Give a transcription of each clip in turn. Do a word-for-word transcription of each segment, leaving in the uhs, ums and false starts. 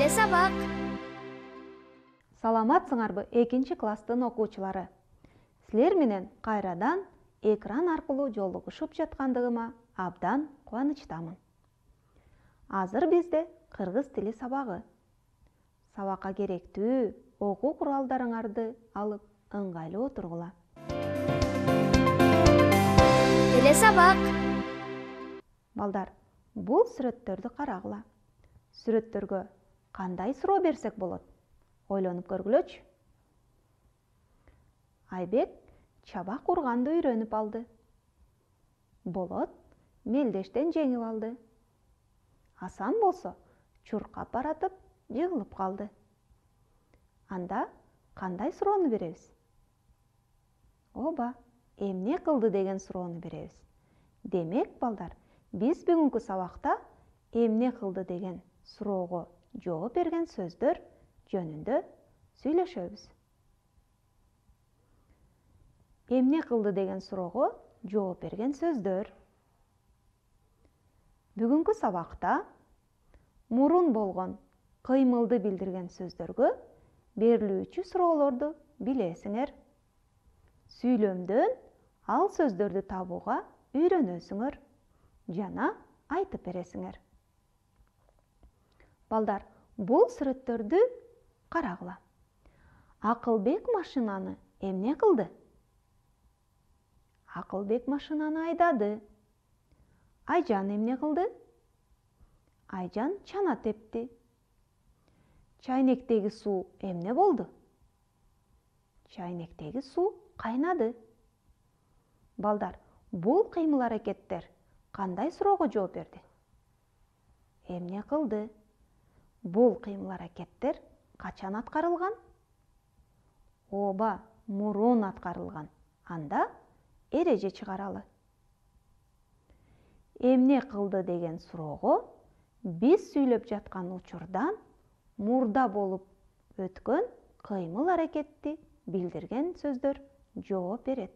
Келе сабак. Саламатсыңарбы экинчи класстын окуучулары? Силер менен кайрадан экран аркылуу жолугушуп жаткандыгыма абдан кубанычтамын. Азыр бизде кыргыз тили сабагы. Сабакка керектүү окуу куралдарыңарды алып ыңгайлуу отургула. Келе сабак. Балдар, бул сүрөттөрдү карагыла. Сүрөттөргө кандай суроо берсек болот? Ойлонуп көргүлөчү. Айбек чабак урганды үйрөнүп алды. Болот мелдештен жеңип алды. Асан болсо чуркап баратып жыгылып калды. Анда кандай суроону беребиз? Оба, эмне кылды деген суроону беребиз. Демек, балдар, биз бүгүнкү сабакта эмне кылды деген суроого жооп берген сөздөр жөнүндө сүйлөшөбүз. Эмне кылды деген суроого жооп берген сөздөр. Бүгүнкү сабакта мурун болгон кыймылды билдирген сөздөргө берилүүчү суроолорду билесиңер. Сүйлөмдөн ал сөздөрдү табууга үйрөнөсүңөр жана айтып бересиңер. Балдар, бул сүрөттөрдү карагыла. Акылбек машинаны эмне кылды? Акылбек машинаны айдады. Айжан эмне кылды? Айжан чана тепти. Чайнектеги суу эмне болду? Чайнектеги суу кайнады. Балдар, бул кыймыл-аракеттер кандай суроого жооп берди? Эмне кылды? Бул кыймыл-аракеттер качан аткарылган? Ооба, мурун аткарылган. Анда эреже чыгаралы. Эмне кылды деген суроого биз сүйлөп жаткан учурдан мурда болуп өткөн кыймыл-аракетти билдирген сөздөр жооп берет.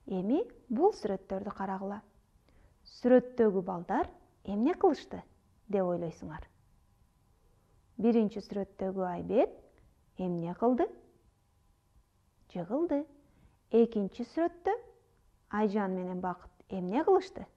Эми бул сүрөттөрдү карагыла. Сүрөттөгү балдар эмне кылышты деп ойлойсуңар? Биринчи сүрөттөгү Айбек эмне кылды? Жыгылды. Экинчи сүрөттө Айжан менен Бакыт эмне кылышты?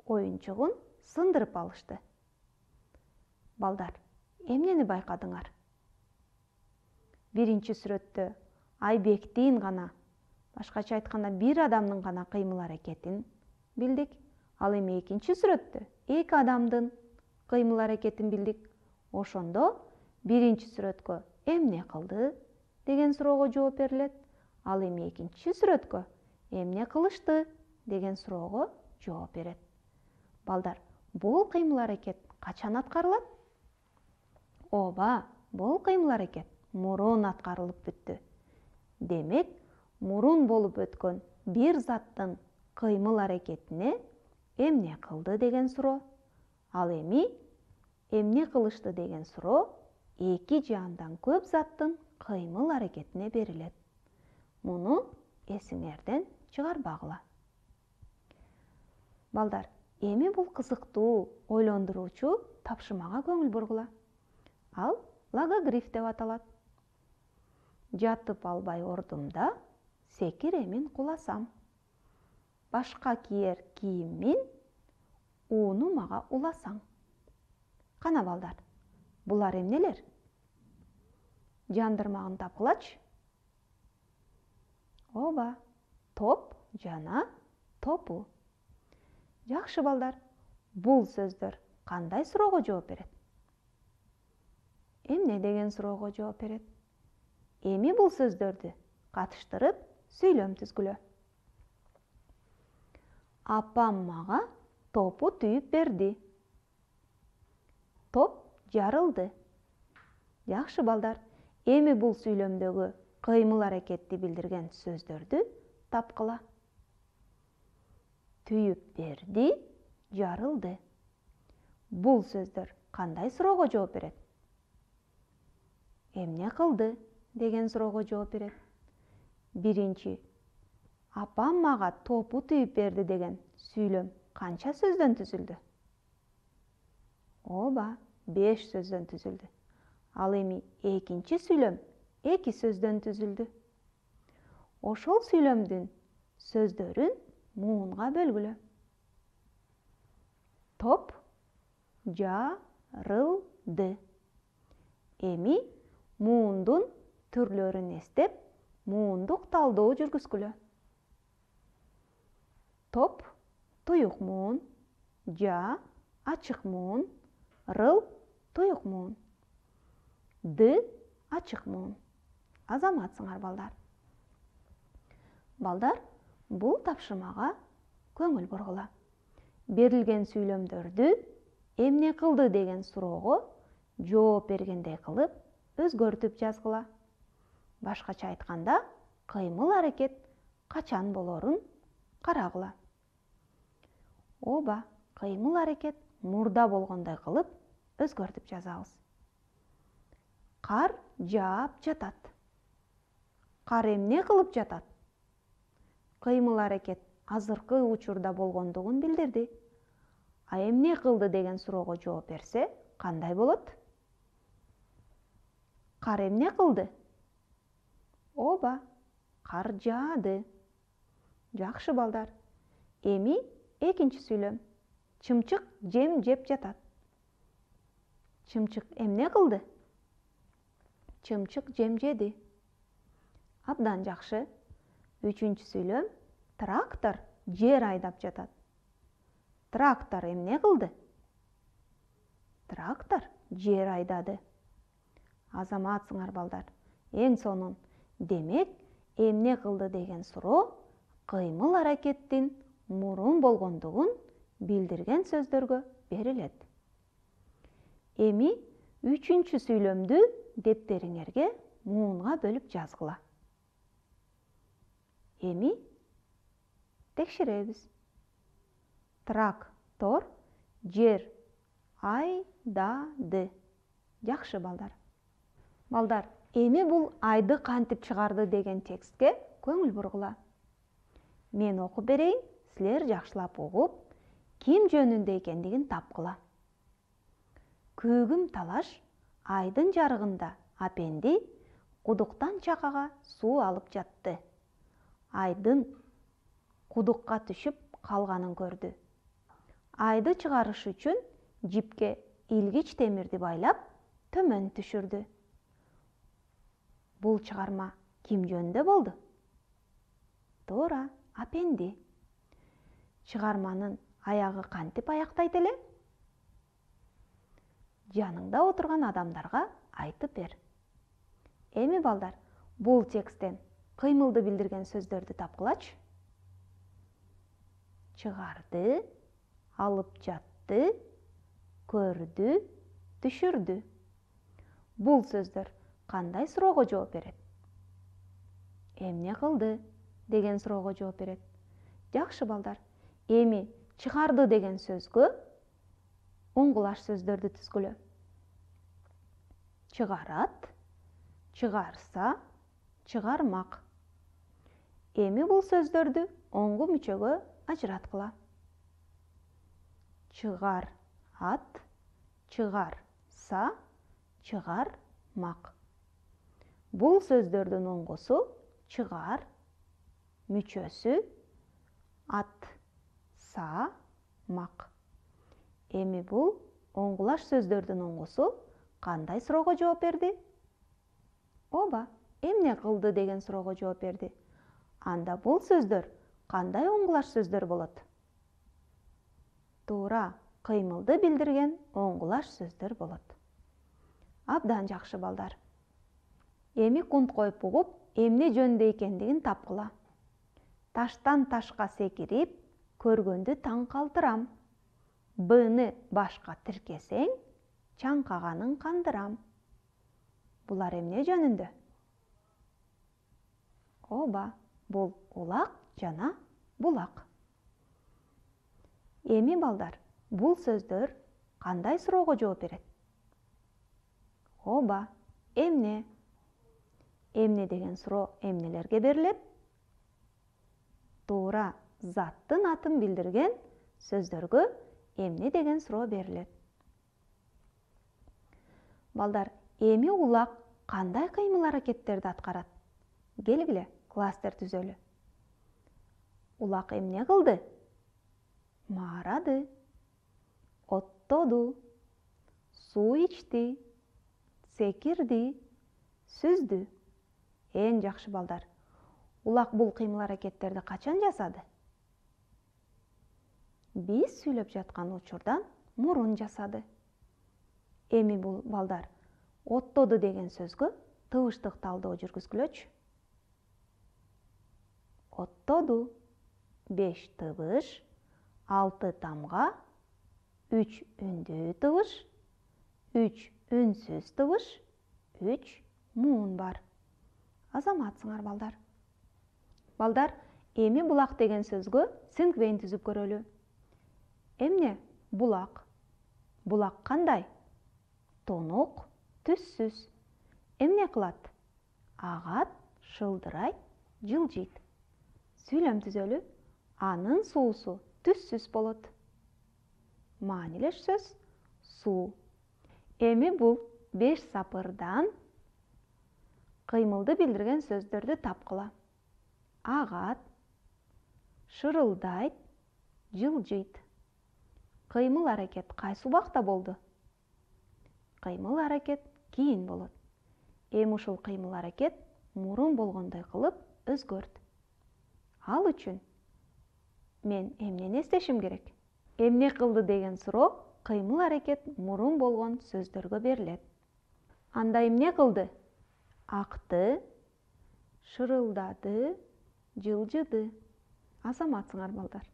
Оюнчугун сындырып алышты. Балдар, эмнени байкадыңар? Биринчи сүрөттө Айбектин гана, башкача айтканда бир адамдын гана кыймыл-аракетин билдик. Ал эми экинчи сүрөттө эки адамдын кыймыл-аракетин билдик. Ошондо биринчи сүрөткө эмне кылды деген суроого жооп берилет. Ал эми экинчи сүрөткө эмне кылышты деген суроого жооп берет. Балдар, бул кыймыл-аракет качан аткарылат? Ооба, бул кыймыл-аракет мурун аткарылып бүттү. Демек, мурун болуп өткөн бир заттын кыймыл-аракетине эмне кылды деген суроо. Ал эми эмне кылышты деген суроо эки же андан көп заттын кыймыл-аракетине берилет. Муну эсиңерден чыгарбагыла. Балдар, эми бул кызыктуу, ойлондуруучу тапшырмага көңүл бургула. Ал логогриф деп аталат. Жатып албай ордумда секир эмин куласам. Башка кийер кийиммин ууну мага уласаң. Кана балдар, булар эмнелер? Жандырмагын тапкылачы. Ооба, топ жана топу. Жакшы балдар, бул сөздөр кандай суроого жооп берет? Эмне деген суроого жооп берет? Эми бул сөздөрдү катыштырып сүйлөм түзгүлө. Апам мага топу түйүп берди. Топ жарылды. Жакшы балдар, эми бул сүйлөмдөгү кыймыл-аракетти билдирген сөздөрдү тапкыла. Түйүп берди, жарылды. Бул сөздөр кандай суроого жооп берет? Эмне кылды деген суроого жооп берет. Биринчи, апам мага топу түйүп берди деген сүйлөм канча сөздөн түзүлдү? Ооба, беш сөздөн түзүлдү. Ал эми экинчи сүйлөм эки сөздөн түзүлдү. Ошол сүйлөмдүн сөздөрүн муунга бөлгүлө. Топ жарылды. Эми муундун түрлөрүн эстеп, муундук талдоо жүргүзгүлө. Топ туюк муун, жа ачык муун, рыл туюк муун, ды ачык муун. Азаматсыңар балдар. Балдар, бул тапшырмага көңүл бургула. Берилген сүйлөмдөрдү эмне кылды деген суроого жооп бергендей кылып өзгөртүп жазгыла. Башкача айтканда, кыймыл-аракет качан болорун карагыла. Ооба, кыймыл-аракет мурда болгондой кылып өзгөртүп жазабыз. Кар жаап жатат. Кар эмне кылып жатат? Кыймыл-аракет азыркы учурда болгондугун билдирди. А эмне кылды деген суроого жооп берсе, кандай болот? Кар эмне кылды? Ооба, кар жаады. Жакшы балдар. Эми экинчи сүйлөм. Чымчык жем жеп жатат. Чымчык эмне кылды? Чымчык жем жеди. Абдан жакшы. Үчүнчү сүйлөм. Трактор жер айдап жатат. Трактор эмне кылды? Трактор жер айдады. Азаматсыңар балдар. Эң сонун. Демек, эмне кылды деген суроо кыймыл-аракеттин мурун болгондугун билдирген сөздөргө берилет. Эми үчүнчү сүйлөмдү дептериңерге муунга бөлүп жазгыла. Эми текшеребиз. Трактор жер айдады. Жакшы балдар. Балдар, эми бул айды кантип чыгарды деген текстке көңүл бургула. Мен окуп берейин, силер жакшылап угуп, ким жөнүндө экендигин тапкыла. Көгүм талаш айдын жарыгында апенди кудуктан чакага суу алып жатты. Айдын кудукка түшүп калганын көрдү. Айды чыгарыш үчүн жипке илгич темирди байлап, төмөн түшүрдү. Бул чыгарма ким жөнүндө болду? Туура, апенди. Чыгарманын аягы кантип аяктайт эле? Жаныңда отурган адамдарга айтып бер. Эми балдар, бул тексттен кыймылды билдирген сөздөрдү тапкылачы. Чыгарды, алып жатты, көрдү, түшүрдү. Бул сөздөр кандай суроого жооп берет? Эмне кылды деген суроого жооп берет. Жакшы балдар. Эми чыгарды деген сөзгө оңгулаш сөздөрдү түзгүлө. Чыгарат, чыгарса, чыгармак. Эми бул сөздөрдү оңгу мүчөгө ажыраткыла. Чыгарат, чыгарса, чыгармак. Бул сөздөрдүн оңгусу чыгар, мүчөсү ат, са, мак. Эми бул оңгулаш сөздөрдүн оңгусу кандай суроого жооп берди? Ооба, эмне кылды деген суроого жооп берди. Анда бул сөздөр кандай оңгулаш сөздөр болот? Туура, кыймылды билдирген оңгулаш сөздөр болот. Абдан жакшы балдар. Эми кунт коюп угуп, эмне жөнүндө экендигин тапкыла. Таштан ташка секирип, көргөндү таң калтырам. Быны башка тиркесең, чаңкаганын кандырам. Булар эмне жөнүндө? Ооба, бул улак жана булак. Эми балдар, бул сөздөр кандай суроого жооп берет? Ооба, эмне? Эмне деген суроо эмнелерге берилет? Туура, заттын атын билдирген сөздөргө эмне деген суроо берилет. Балдар, эми улак кандай кыймыл аракеттерди аткарат? Келгиле, кластер түзөлү. Улак эмне кылды? Маарады, оттоду, суу ичти, секирди, сүздү. Эң жакшы балдар. Улак бул кыймыл аракеттерди качан жасады? Биз сүйлөп жаткан учурдан мурун жасады. Эми бул балдар, оттоду деген сөзгө тыбыштык талдоо жүргүзгүлөчү. Оттоду, беш тыбыш, алты тамга, үч үндүү тыбыш, үч үнсүз тыбыш, үч муун бар. Азаматсыңар балдар. Балдар, эми булак деген сөзгө сингвейн түзүп көрөлү. Эмне булак? Булак кандай? Тонук, түссүз. Эмне кылат? Агат, шылдырайт, жылжыйт. Сүйлөм түзөлү. Анын суусу түссүз болот. Маанилеш сөз суу. Эми бул беш сапырдан кыймылды билдирген сөздөрдү тапкыла. Агат, шырылдайт, жылжыйт. Кыймыл аракет кайсы убакта болду? Кыймыл аракет кийин болот. Эми ушул кыймыл аракет мурун болгондой кылып өзгөрт. Ал үчүн мен эмнени эстешим керек? Эмне кылды деген суроо кыймыл аракет мурун болгон сөздөргө берилет. Анда эмне кылды? Акты, шырылдады, жылжыды. Азаматсыңар балдар.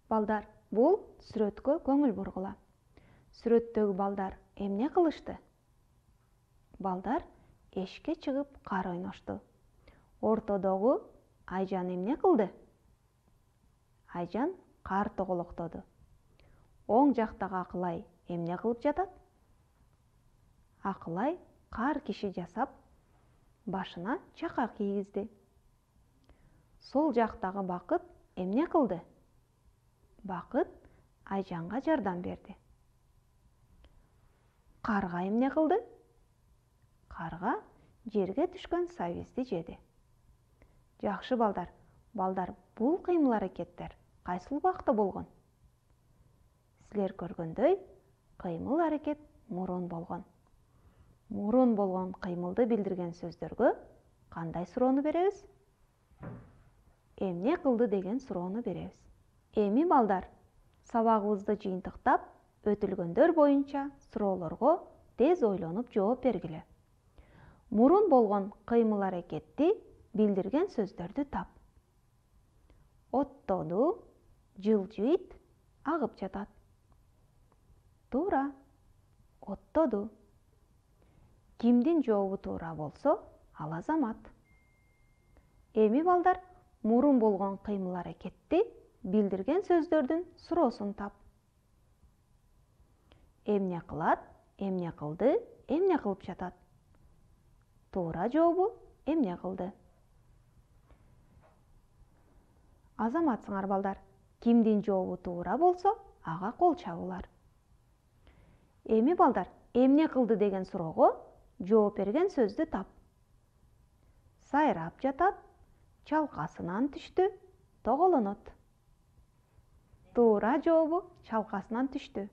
Балдар, бул сүрөткө көңүл бургула. Сүрөттөгү балдар эмне кылышты? Балдар эшикке чыгып кар ойношту. Ортодогу Айжан эмне кылды? Айжан кар тоголоктоду. Оң жактагы Акылай эмне кылып жатат? Акылай кар киши жасап, башына чака кийгизди. Сол жактагы Бакыт эмне кылды? Бакыт Айжанга жардам берди. Карга эмне кылды? Карга жерге түшкөн сабизди жеди. Жакшы балдар. Балдар, бул кыймыл аракеттер кайсыл убакта болгон? Силер көргөндөй, кыймыл аракет мурун болгон. Мурун болгон кыймылды билдирген сөздөргө кандай суроону беребиз? Эмне кылды деген суроону беребиз. Эми балдар, сабагыбызды жыйынтыктап, өтүлгөндөр боюнча суроолорго тез ойлонуп жооп бергиле. Мурун болгон кыймыл аракетти билдирген сөздөрдү тап. Оттоду, жылжыйт, агып жатат. Туура. Оттоду. Кимдин жообу туура болсо, ал Азамат. Эми балдар, мурун болгон кыймыл аракетти билдирген сөздөрдүн суроосун тап. Эмне кылат, эмне кылды, эмне кылып жатат? Туура жообу эмне кылды? Азаматсыңар балдар. Кимдин жообу туура болсо, ага кол чабуулар. Эми балдар, эмне кылды деген суроого жооп берген сөздү тап. Сайрап жатат, чалкасынан түштү, тоголонот. Туура жообу чалкасынан түштү.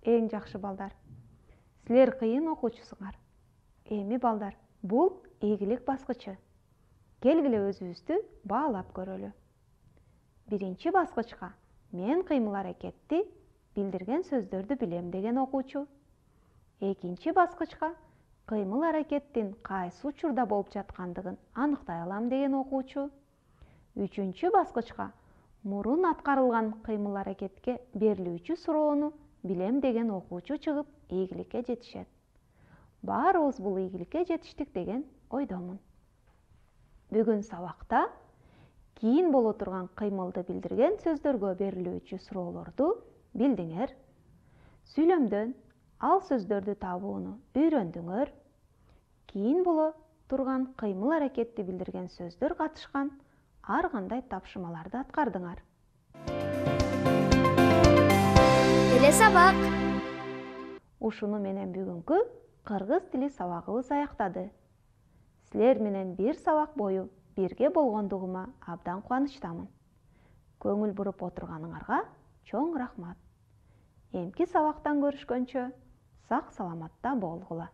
Эң жакшы балдар. Силер кыйын окуучусуңар. Эми балдар, бул ийгилик баскычы. Келгиле өзүбүздү баалап көрөлү. Биринчи баскычка мен кыймыл аракетти билдирген сөздөрдү билем деген окуучу. Экинчи баскычка кыймыл аракеттин кайсы учурда болуп жаткандыгын аныктай алам деген окуучу. Үчүнчү баскычка мурун аткарылган кыймыл аракетке берилүүчү суроону билем деген окуучу чыгып ийгиликке жетишет. Баарыбыз бул ийгиликке жетиштик деген ойдомун. Бүгүн сабакта кийин боло турган кыймылды билдирген сөздөргө берилүүчү суроолорду билдиңер. Сүйлөмдөн ал сөздөрдү табууну үйрөндүңөр. Кийин боло турган кыймыл аракетти билдирген сөздөр катышкан ар кандай тапшырмаларды аткардыңар. Келе сабак. Ушуну менен бүгүнкү кыргыз тили сабагыбыз аяктады. Силер менен бир сабак бою бирге болгондугума абдан кубанычтамын. Көңүл буруп отурганыңарга чоң рахмат. Эмки сабактан көрүшкөнчө сак саламатта болгула.